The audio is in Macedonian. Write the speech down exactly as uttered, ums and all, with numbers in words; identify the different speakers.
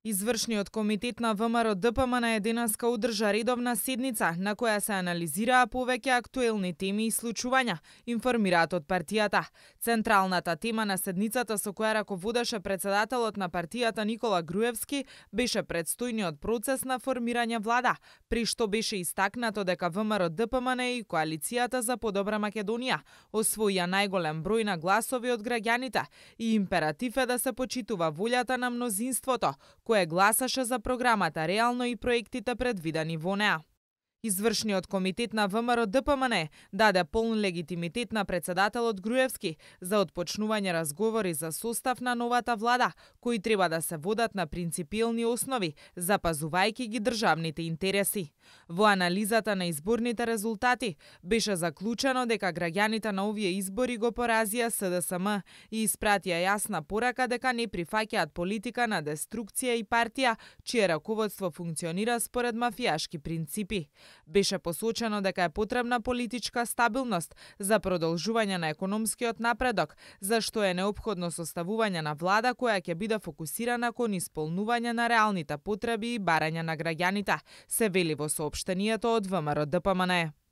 Speaker 1: Извршниот комитет на ВМРО-ДПМН денеска одржа редовна седница на која се анализираа повеќе актуелни теми и случувања, информираат од партијата. Централната тема на седницата со која раководеше председателот на партијата Никола Груевски беше предстојниот процес на формирање влада, при што беше истакнато дека ВМРО-ДПМН и Коалицијата за подобра Македонија освоија најголем број на гласови од граѓаните и императив е да се почитува волјата на мнозинството, кое гласаше за програмата реално и проектите предвидени во неа. Извршниот комитет на ВМРО-ДПМН даде полн легитимитет на председателот Груевски за отпочнување разговори за состав на новата влада, кои треба да се водат на принципиелни основи, запазувајќи ги државните интереси. Во анализата на изборните резултати беше заклучено дека граѓаните на овие избори го поразија СДСМ и испратија јасна порака дека не прифаќаат политика на деструкција и партија чие раководство функционира според мафијашки принципи. Беше посочено дека е потребна политичка стабилност за продолжување на економскиот напредок, за што е неопходно составување на влада која ќе биде фокусирана кон исполнување на реалните потреби и барања на граѓаните, се вели во соопштението од ВМРО-ДПМН.